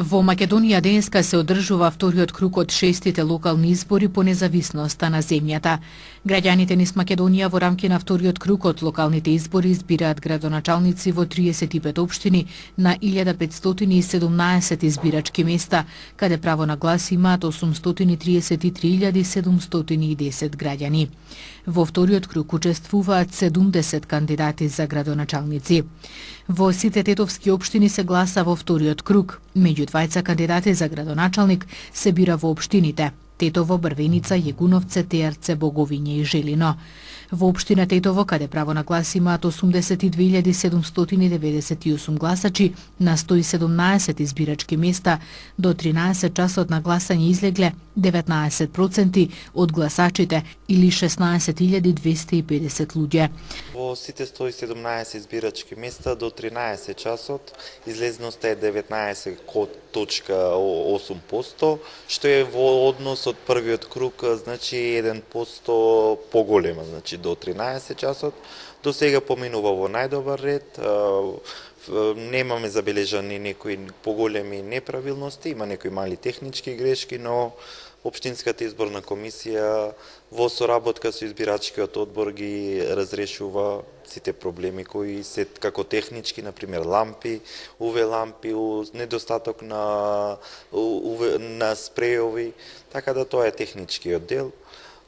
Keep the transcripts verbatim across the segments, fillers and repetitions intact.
Во Македонија денеска се одржува вториот круг од шестите локални избори по независноста на земјата. Граѓаните низ Македонија во рамки на вториот круг од локалните избори избираат градоначалници во триесет и пет општини на илјада петстотини и седумнаесет избирачки места, каде право на глас имаат осумстотини триесет и три илјади седумстотини и десет граѓани. Во вториот круг учествуваат седумдесет кандидати за градоначалници. Во сите тетовски општини се гласа во вториот круг. Меѓу двајца кандидати за градоначалник се бира во општините Тетово, Брвеница, Јегуновце, Теарце, Боговиње и Желино. Во општина Тетово, каде право на глас имаат осумдесет и две илјади седумстотини деведесет и осум гласачи на сто и седумнаесет избирачки места, до тринаесет часот на гласање излегле деветнаесет проценти од гласачите или шеснаесет илјади двесте и педесет луѓе. Во сите сто и седумнаесет избирачки места до тринаесет часот излезноста е деветнаесет точка осум проценти, што е во однос од првиот круг, значи еден процент поголема, значи до тринаесет часот. До сега поминува во најдобар ред. Немаме забележани некои поголеми неправилности, има некои мали технички грешки, но Општинската изборна комисија во соработка со избирачкиот одбор ги разрешува сите проблеми кои се како технички, например лампи, УВ лампи, недостаток на УВ на спреови, така да тоа е техничкиот дел.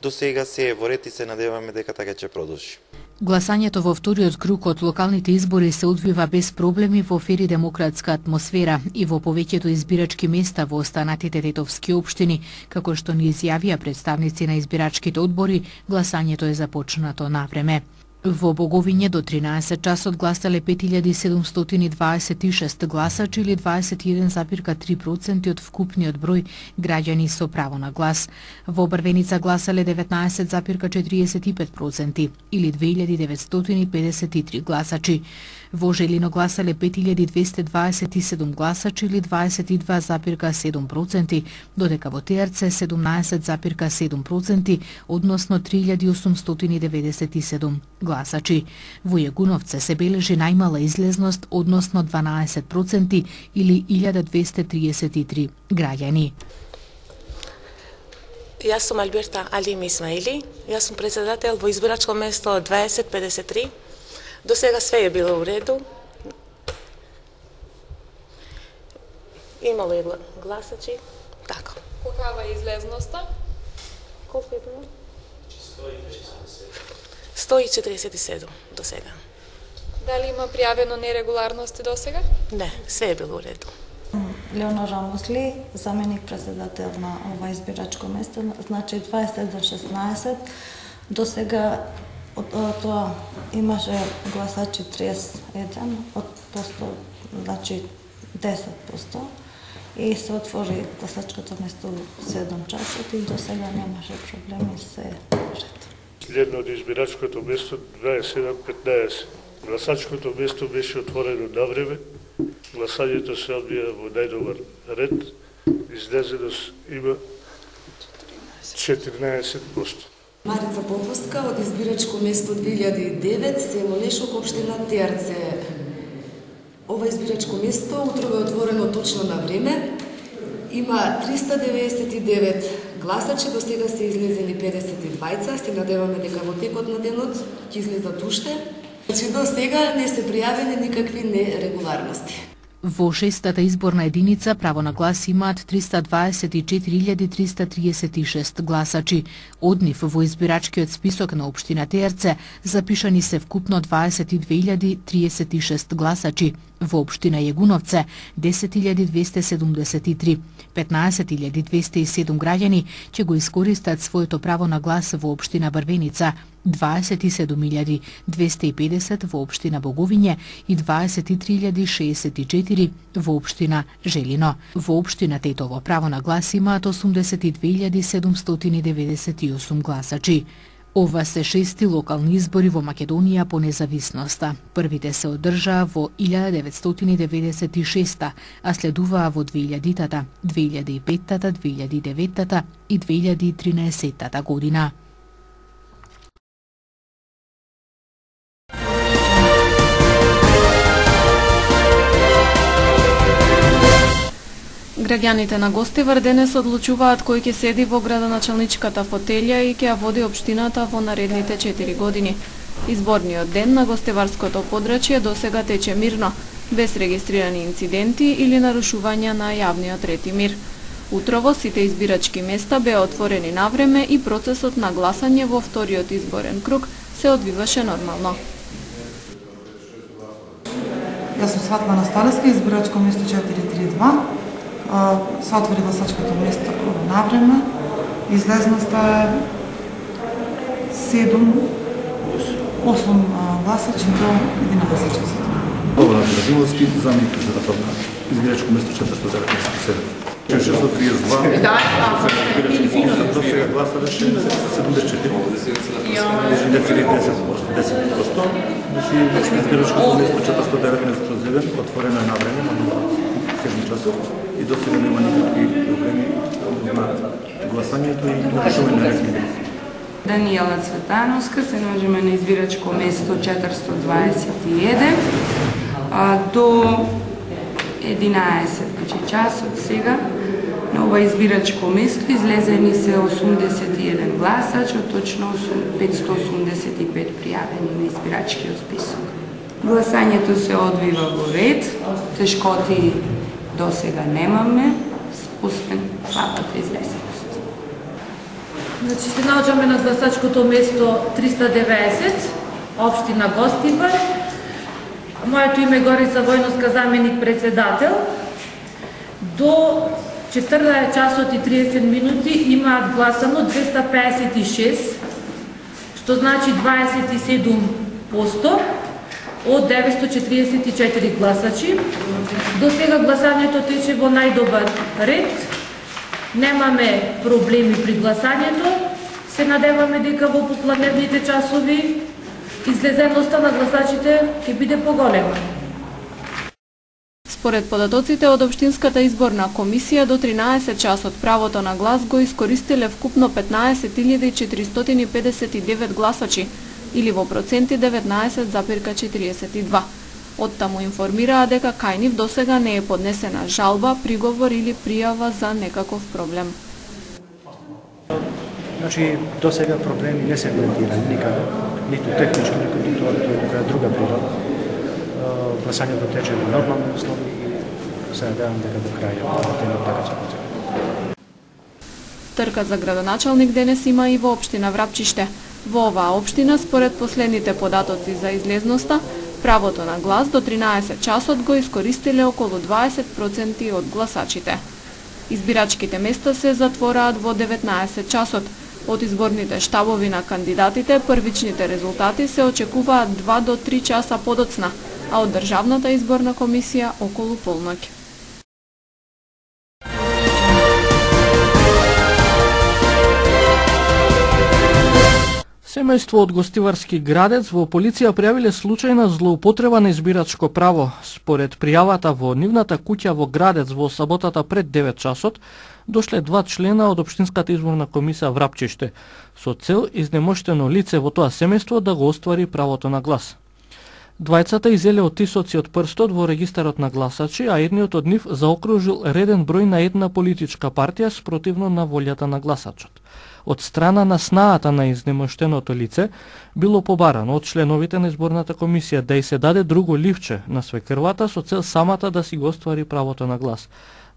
До сега се е во ред и се надеваме дека така ќе продолжи. Гласањето во вториот круг од локалните избори се одвива без проблеми во фер и демократска атмосфера и во повеќето избирачки места во останатите тетовски општини, како што ни изјавија представници на избирачките одбори, гласањето е започнато навреме. Во Боговиње до тринаесет часот гласале пет илјади седумстотини дваесет и шест гласачи или дваесет и еден зарез три проценти од вкупниот број граѓани со право на глас. Во Брвеница гласале деветнаесет зарез четириесет и пет проценти или две илјади деветстотини педесет и три гласачи. Во Желино гласале пет илјади двесте дваесет и седум гласачи или дваесет и два зарез седум проценти, додека во Теарце седумнаесет зарез седум проценти, односно три илјади осумстотини деветдесет и седум гласачи. Во Јегуновце се бележи најмала излезност, односно дванаесет проценти или илјада двесте триесет и три граѓани. Јас сум Алберта Алим Исмаили, јас сум председател во избирачко место дваесет педесет и три. До сега све е било у реду. Имало е гласачи. Така. Колкава е излезноста? Колку е било? сто и четириесет и седум до сега. Дали има пријавено нерегуларности до сега? Не, све е било у реду. Леонора Мусли, заменик председател на ова избирачко место, значи дваесет еден шеснаесет. До сега од тоа имаше гласачи триесет и еден, од посто, значи десет проценти, и се отвори гласачкото место седум часот и до сега немаше проблеми, се ред. Следно од избирачкото место дваесет и седум петнаесет. Гласачкото место беше отворено на време, гласањето се одвија во најдобар ред, излезеност има четиринаесет проценти. Марица Попуска од избирачко место две илјади и девет, село Лешок, општина Теарце. Ова избирачко место утрово е отворено точно на време. Има триста деветдесет и девет гласачи, до сега се излезени педесет и двајца, се надеваме дека во текот на денот ќе излезат уште. Значи до сега не се пријавени никакви нерегуларности. Во шестата изборна единица право на глас имаат триста дваесет и четири илјади триста триесет и шест гласачи. Од нив во избирачкиот список на општина Теарце запишани се вкупно дваесет и две илјади триесет и шест гласачи. Во општина Јегуновце десет илјади двесте седумдесет и три. петнаесет илјади двесте и седум граѓани ќе го искористат своето право на глас во општина Брвеница, дваесет и седум илјади двесте и педесет во општина Боговиње и дваесет и три илјади шеесет и четири во општина Желино. Во општина Тетово право на глас имаат осумдесет и две илјади седумстотини деветдесет и осум гласачи. Ова се шести локални избори во Македонија по независноста. Првите се одржаа во илјада деветстотини деветдесет и шеста, а следуваа во две илјадитата, две илјади и петтата, две илјади и деветата и две илјади и тринаесеттата година. Граѓаните на Гостивар денес одлучуваат кој ќе седи во градоначалничката фотелја и ќе ја води општината во наредните четири години. Изборниот ден на гостиварското подрачје досега тече мирно, без регистрирани инциденти или нарушувања на јавниот ред и мир. Утрово сите избирачки места беа отворени навреме и процесот на гласање во вториот изборен круг се одвиваше нормално. Јас сум Светлана Сталеска, избирачко место четири три два. Се отвори гласачкото место навреме. Излезноста е седум осум гласачи до единаесет часот. Богдан Радиловски, заменик председател на избирачко место четиристотини деветнаесет и седум. шестстотини триесет и два избирачки список, до сега гласале седумдесет и четири, десет проценти. Значи избирачкото место четиристотини деветнаесет и еден отворено е на време на седум часот и до сега нема никакви проблеми на гласањето и нарушување на ред. Даниела Цветановска, се наоѓаме на избирачко место четиристотини дваесет и еден. До единаесет часот сега на ова избирачко место излезени се осумдесет и еден гласачи, точно петстотини осумдесет и пет пријавени на избирачкиот список. Гласањето се одвива во ред, тешкоти до сега немаме, освен слабата излезеност. Значи се наоѓаме на гласачкото место триста и деветдесет, општина Гостивар. Моето име е Горица Војновска, заменик председател. До четрнаесет часот и триесет минути имаат гласано двеста пеесет и шест, што значи дваесет и седум проценти од деветстотини четириесет и четири гласачи. До сега гласањето тече во најдобар ред. Немаме проблеми при гласањето. Се надеваме дека во попладневните часови излезеноста на гласачите ќе биде поголема. Според податоците од Општинската изборна комисија, до тринаесет часот правото на глас го искористиле вкупно петнаесет илјади четиристотини педесет и девет гласачи, или во проценти деветнаесет запирка четириесет и два. Оттаму информираа дека кај нив досега не е поднесена жалба, приговор или пријава за некаков проблем. Значи, досега проблеми не се коментирани никаде, ниту технички, ниту тоа друга природа. Гласањето тече во нормални услови и се надевам дека до крај темот така ќе потече. Трка за градоначалник денес има и во општина Врапчиште. Во оваа општина, според последните податоци за излезноста, правото на глас до тринаесет часот го искористиле околу дваесет проценти од гласачите. Избирачките места се затвораат во деветнаесет часот. Од изборните штабови на кандидатите, првичните резултати се очекуваат два до три часа подоцна, а од Државната изборна комисија околу полноќ. Семејство од Гостиварски Градец во полиција пријавиле случај на злоупотреба на избирачко право. Според пријавата во нивната куќа во Градец во саботата пред девет часот, дошле два члена од Општинската изборна комисија Врапчиште, со цел изнемоштено лице во тоа семејство да го оствари правото на глас. Двајцата изеле оттисоци од прстот во регистарот на гласачи, а едниот од нив заокружил реден број на една политичка партија спротивно на волјата на гласачот. Од страна на снаата на изнемоштеното лице било побарано од членовите на изборната комисија да й се даде друго ливче на свекрвата со цел самата да си го оствари правото на глас,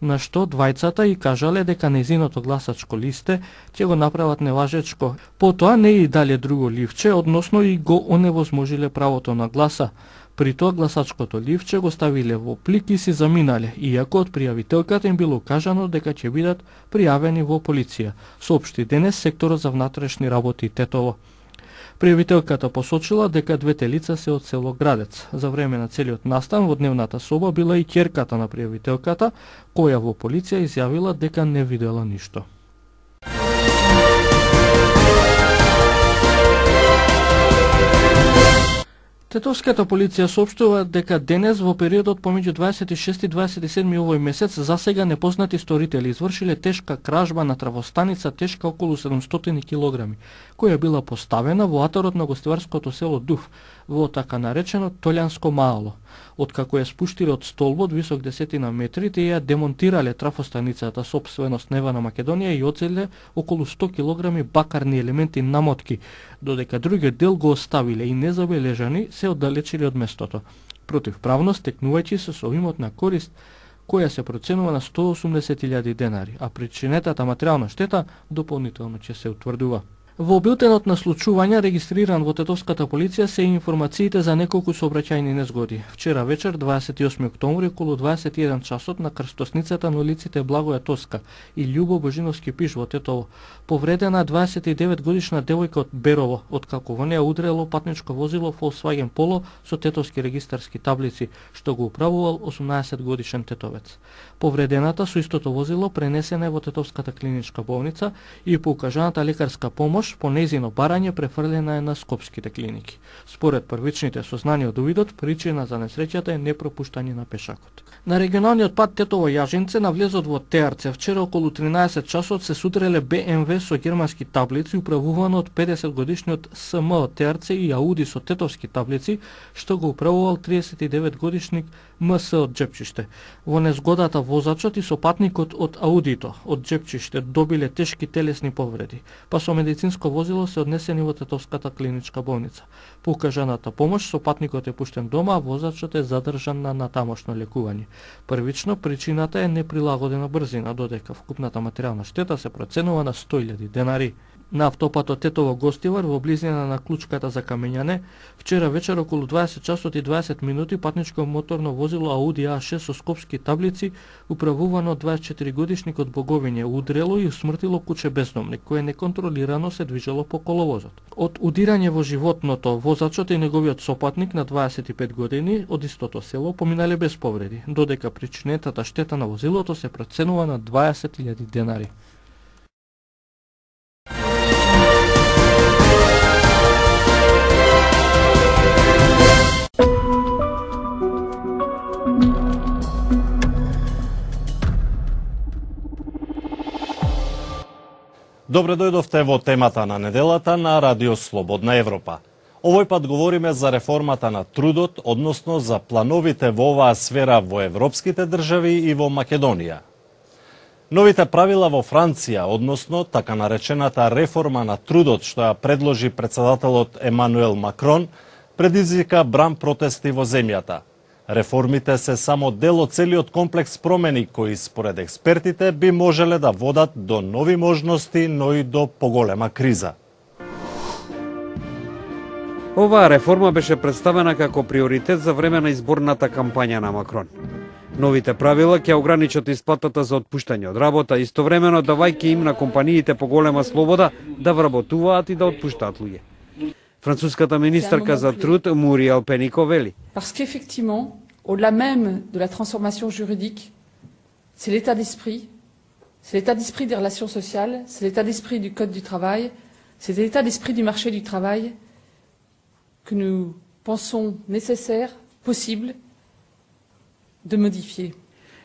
на што двајцата и кажале дека незиното гласачко листе ќе го направат неважечко. Потоа не и дале друго ливче, односно и го оневозможиле правото на гласа. При тоа гласачкото ливче го ставиле во плик и си заминале, иако од пријавителката им било кажано дека ќе бидат пријавени во полиција, соопшти денес секторот за внатрешни работи Тетово. Пријавителката посочила дека двете лица се од село Градец. За време на целиот настан во дневната соба била и ќерката на пријавителката, која во полиција изјавила дека не видела ништо. Тетовската полиција соопштува дека денес во периодот помеѓу дваесет и шести и дваесет и седми овој месец засега непознати сторители извршиле тешка кражба на травостаница тешка околу седумстотини килограми, која била поставена во атарот на гостиварското село Дув, во така наречено Толјанско маало. Откако ја спуштиле од столбот висок десетина метри, те ја демонтирале трафостаницата сопственост Нева на Македонија и оцеле околу сто килограми бакарни елементи намотки, додека другиот дел го оставиле и незабележани се оддалечиле од местото. Противправно стекнувајќи се со имот на корист која се проценува на сто осумдесет илјади денари, а причинетата материјална штета дополнително ќе се утврдува. Во билтенот на случувања регистриран во тетовската полиција се информациите за неколку сообраќајни незгоди. Вчера вечер, дваесет и осми октомври, околу дваесет и еден часот на крстосницата на улиците Благоја Тоска и Љубо Божиновски пиш во Тетово, повредена дваесет и девет годишна девојка од Берово, откако во неја удрело патничко возило Volkswagen Polo со тетовски регистарски таблици, што го управувал осумнаесет годишен тетовец. Повредената со истото возило пренесена во Тетовската клиничка болница и по укажаната лекарска помош по нејзино барање префрлена е на скопските клиники. Според првичните сознанија од увидот, причина за несреќата е непропуштање на пешакот. На регионалниот пат Тетово Јажинце на влезот во Теарце вчера околу тринаесет часот се судреле Б М В со германски таблици управувано од педесет годишниот С М од Теарце и Ауди со тетовски таблици, што го управувал триесет и девет годишник М С од Джепчиште. Во незгодата возачот и сопатникот од Аудито од Джепчиште добиле тешки телесни повреди, па со медицинско возило се однесени во Тетовската клиничка болница. По укажаната помош сопатникот е пуштен дома, а возачот е задржан на натамошно лекување. Првично причината е неприлагодена брзина, додека вкупната материјална штета се проценува на сто илјади денари. На автопатот Тетово Гостивар во близина на клучката за камењане, вчера вечер околу дваесет часот и дваесет минути патничко моторно возило Ауди А шест со скопски таблици, управувано од дваесет и четири годишник од Боговиње, удрело и усмртило куче бездомник, кое неконтролирано се движело по коловозот. Од удирање во животното, возачот и неговиот сопатник на дваесет и пет години од истото село поминале без повреди, додека причинетата штета на возилото се проценува на дваесет илјади денари. Добре дојдовте во темата на неделата на Радио Слободна Европа. Овој пат говориме за реформата на трудот, односно за плановите во оваа сфера во европските држави и во Македонија. Новите правила во Франција, односно така наречената реформа на трудот што ја предложи председателот Емануел Макрон, предизвика бран протести во земјата. Реформите се само дел од целиот комплекс промени кои според експертите би можеле да водат до нови можности, но и до поголема криза. Оваа реформа беше представена како приоритет за време на изборната кампања на Макрон. Новите правила ќе ограничат исплатата за отпуштање од работа, истовремено давајќи им на компаниите поголема слобода да вработуваат и да отпуштаат луѓе. Француската министерка за труд Муриел Пенико вели: Parce qu'effectivement, au-delà même de la transformation juridique, c'est l'état d'esprit, c'est l'état d'esprit des relations sociales, c'est l'état d'esprit du code du travail, c'est l'état d'esprit du marché du travail que nous pensons nécessaire, possible de modifier.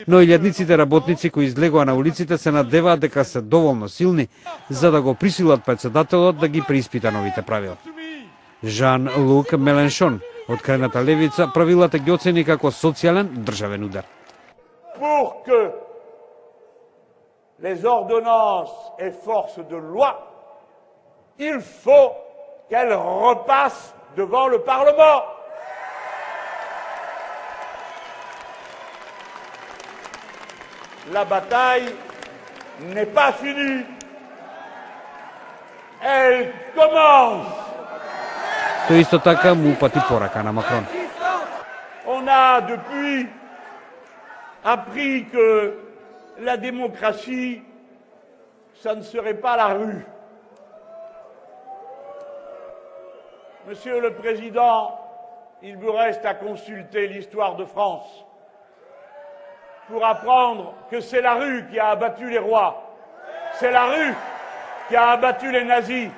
Но илјадниците работници кои излегоа на улиците се надеваат дека се доволно силни за да го присилат председателот да ги преиспита новите правила. Жан-Лук Меленшон од крајната левица правилата ги оцени како социјален државен удар. Pour que les ordonnances aient force de loi, il faut qu'elles repassent devant le Parlement. La bataille n'est pas finie. Elle commence. Тој исто така му упати порака на Макрон. On a depuis appris que la démocratie, ça ne serait pas la rue. Monsieur le Président, il vous reste à consulter l'histoire de France pour apprendre que c'est la rue qui a abattu les rois. C'est la rue qui a abattu les nazis.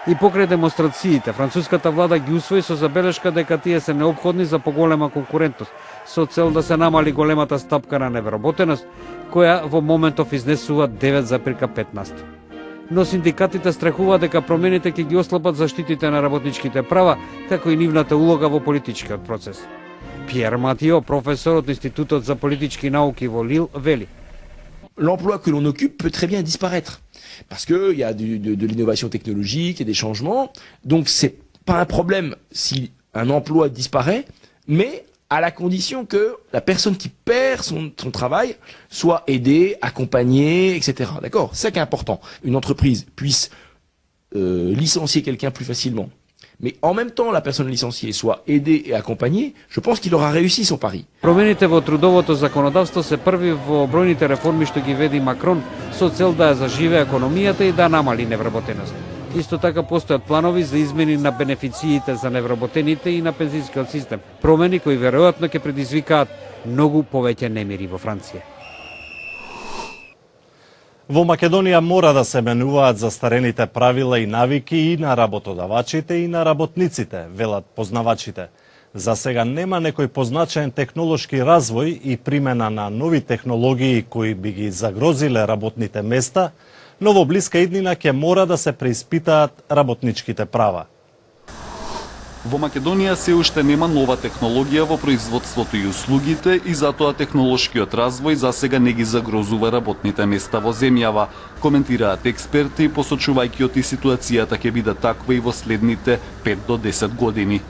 И покрај демонстрациите, француската влада ги усвои со забелешка дека тие се неопходни за поголема конкурентност, со цел да се намали големата стапка на невработеност, која во моментов изнесува девет запирка пет на сто. Но синдикатите страхуваат дека промените ќе ги ослабат заштитите на работничките права, како и нивната улога во политичкиот процес. Пиер Матио, професор од Институтот за политички науки во Лил, вели: L'emploi que l'on occupe peut très bien disparaître parce qu'il y a du, de, de l'innovation technologique et des changements. Donc c'est pas un problème si un emploi disparaît, mais à la condition que la personne qui perd son, son travail soit aidée, accompagnée, et cetera. D'accord? C'est ça qui est important. Une entreprise puisse euh, licencier quelqu'un plus facilement, mais en même temps la personne licenciée soit aidée et accompagnée, je pense qu'il aura réussi son pari. Промените во трудовото законодавство се први во бројните реформи што ги веди Макрон со цел да ја заживее економијата и да намали невработеност. Исто така постојат планови за измени на бенефициите за невработените и на пензискиот систем, промени кои веројатно ќе предизвикаат многу повеќе немири во Франција. Во Македонија мора да се менуваат застарените правила и навики и на работодавачите и на работниците, велат познавачите. За сега нема некој позначаен технолошки развој и примена на нови технологии кои би ги загрозиле работните места, но во блиска иднина ќе мора да се преиспитаат работничките права. Во Македонија се уште нема нова технологија во производството и услугите и затоа технолошкиот развој засега не ги загрозува работните места во земјава, коментираат експерти, посочувајќи оти ситуацијата ќе биде таква и во следните пет до десет години.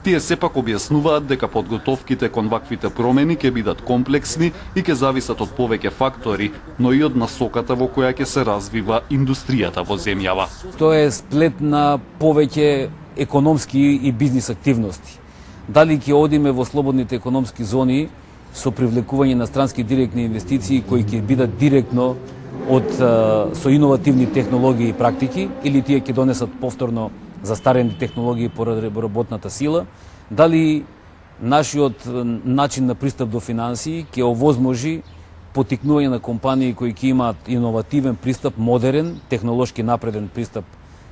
Тие сепак објаснуваат дека подготовките кон ваквите промени ќе бидат комплексни и ќе зависат од повеќе фактори, но и од насоката во која ќе се развива индустријата во земјава. Тоа е сплет на повеќе економски и бизнис активности. Дали ќе одиме во слободните економски зони со привлекување на странски директни инвестиции кои ќе бидат директно од со иновативни технологии и практики, или тие ќе донесат повторно застарени технологии поради работната сила, дали нашиот начин на пристап до финансии ќе овозможи потикнување на компании кои ќе имаат иновативен пристап, модерен, технолошки напреден пристап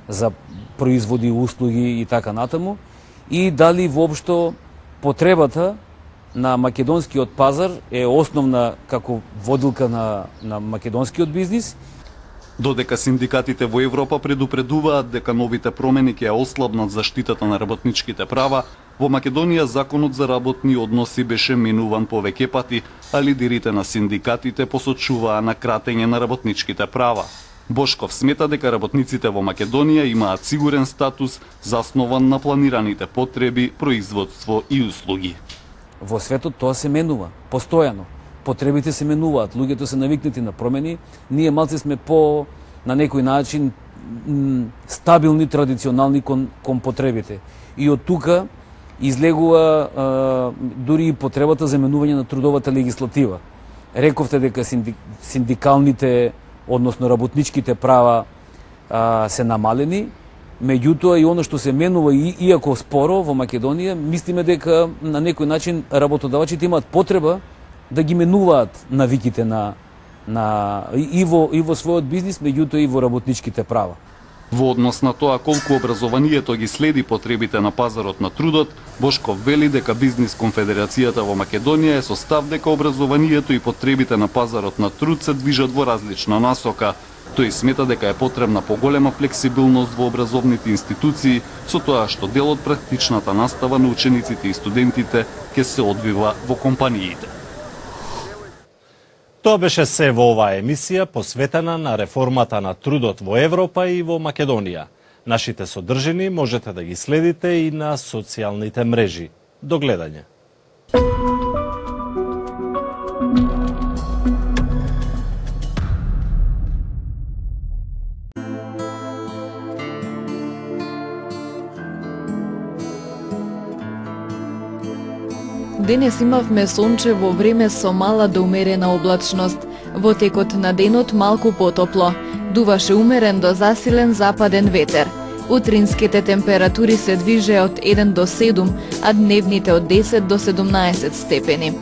за производи, услуги и така натаму, и дали воопшто потребата на македонскиот пазар е основна како водилка на, на македонскиот бизнис. Додека синдикатите во Европа предупредуваат дека новите промени ќе ја ослабнат заштитата на работничките права, во Македонија законот за работни односи беше менуван повеќе пати, а лидерите на синдикатите посочуваа на кратење на работничките права. Бошков смета дека работниците во Македонија имаат сигурен статус заснован на планираните потреби, производство и услуги. Во светот тоа се менува постојано. Потребите се менуваат, луѓето се навикнати на промени, ние малце сме по, на некој начин, стабилни, традиционални кон, кон потребите. И од тука излегува а, дури и потребата за менување на трудовата легислатива. Рековте дека синди, синдикалните, односно работничките права а, се намалени, меѓутоа и оно што се менува, и, иако споро во Македонија, мислиме дека на некој начин работодавачите имаат потреба да ги менуваат навиките на, на и, во, и во својот бизнис, меѓутоа и во работничките права. Во однос на тоа колку образованието ги следи потребите на пазарот на трудот, Бошков вели дека Бизнис конфедерацијата во Македонија е со став дека образованието и потребите на пазарот на труд се движат во различна насока. Тој смета дека е потребна поголема флексибилност во образовните институции, со тоа што дел од практичната настава на учениците и студентите ќе се одвива во компаниите. Тоа беше се во оваа емисија посветена на реформата на трудот во Европа и во Македонија. Нашите содржини можете да ги следите и на социјалните мрежи. До гледање. Денес имавме сончево време со мала до умерена облачност. Во текот на денот малку потопло. Дуваше умерен до засилен западен ветер. Утринските температури се движе од еден до седум, а дневните од десет до седумнаесет степени.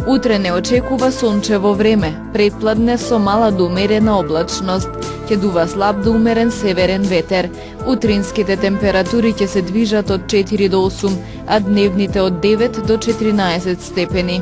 Утре не очекува сончево време, претпладне со мала до умерена облачност. Ќе дува слаб до умерен северен ветер. Утринските температури ќе се движат од четири до осум, а дневните од девет до четиринаесет степени.